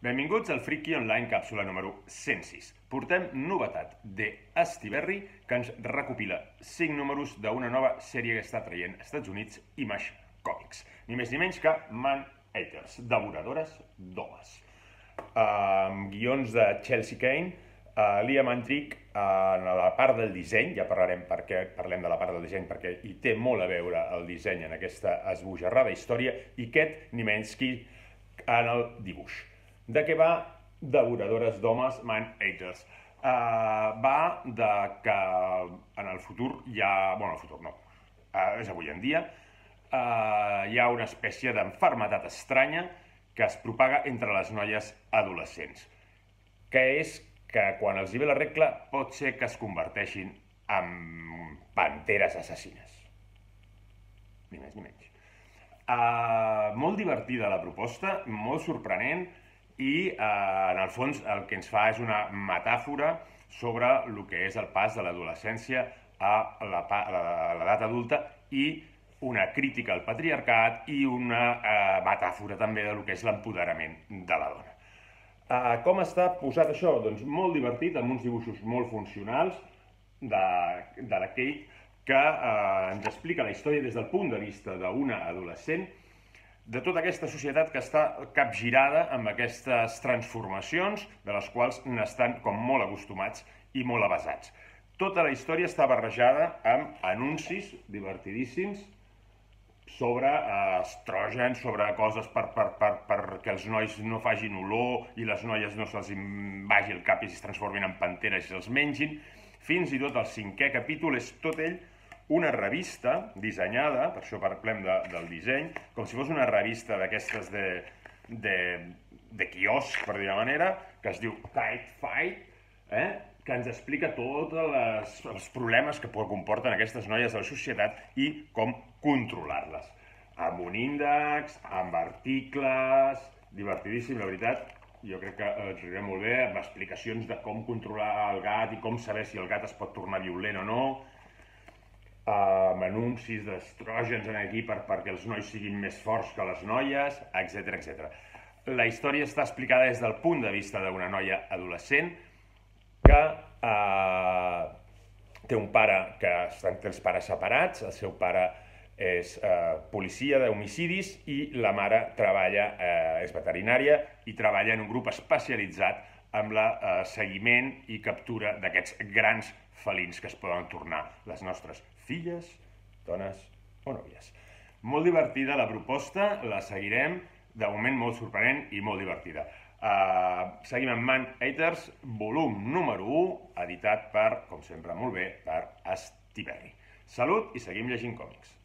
Benvinguts al Friki Online càpsula número 106. Portem novetat de Estiberri, que ens recopila 5 números d'una nova sèrie que està traient als Estats Units, Image Comics. Ni més ni menys que Man-Eaters, devoradores d'homes. Guions de Chelsea Kane, Liam Andrick en la part del disseny, ja parlarem perquè parlem de la part del disseny, perquè hi té molt a veure el disseny en aquesta esbojarrada història, i Ket Niemczyk en el dibuix. De què va Devoradores d'homes, Man-Eaters? Va de que en el futur hi ha... Bueno, el futur no, és avui en dia. Hi ha una espècie d'enfermetat estranya que es propaga entre les noies adolescents, que és que quan els hi ve la regla pot ser que es converteixin en panteres assassines. Ni més ni menys. Molt divertida la proposta, molt sorprenent, i en el fons el que ens fa és una metàfora sobre el que és el pas de l'adolescència a l'edat adulta i una crítica al patriarcat i una metàfora també del que és l'empoderament de la dona. Com està posat això? Doncs molt divertit, amb uns dibuixos molt funcionals de la Kate, que ens explica la història des del punt de vista d'una adolescent, de tota aquesta societat que està capgirada amb aquestes transformacions, de les quals n'estan com molt acostumats i molt avasats. Tota la història està barrejada amb anuncis divertidíssims sobre estrògens, sobre coses perquè els nois no facin olor i les noies no se'ls vagi el cap i es transformin en panteres i se'ls mengin. Fins i tot el 5è capítol és tot ell una revista dissenyada, per això parlem del disseny, com si fos una revista d'aquestes de quiosc, per dir-ho manera, que es diu Kite Fight, que ens explica tots els problemes que comporten aquestes noies de la societat i com controlar-les. Amb un índex, amb articles, divertidíssim, la veritat. Jo crec que ens anirà molt bé, amb explicacions de com controlar el gat i com saber si el gat es pot tornar violent o no, amb anuncis d'estrògens aquí perquè els nois siguin més forts que les noies, etc. La història està explicada des del punt de vista d'una noia adolescent que té un pare que té els pares separats, el seu pare és policia d'homicidis i la mare és veterinària i treballa en un grup especialitzat amb el seguiment i captura d'aquests grans felins que es poden tornar les nostres filles, dones o nòvies. Molt divertida la proposta, la seguirem, de moment molt sorprenent i molt divertida. Seguim amb Man-Eaters, volum número 1, editat per, com sempre molt bé, per Estiberri. Salut i seguim llegint còmics.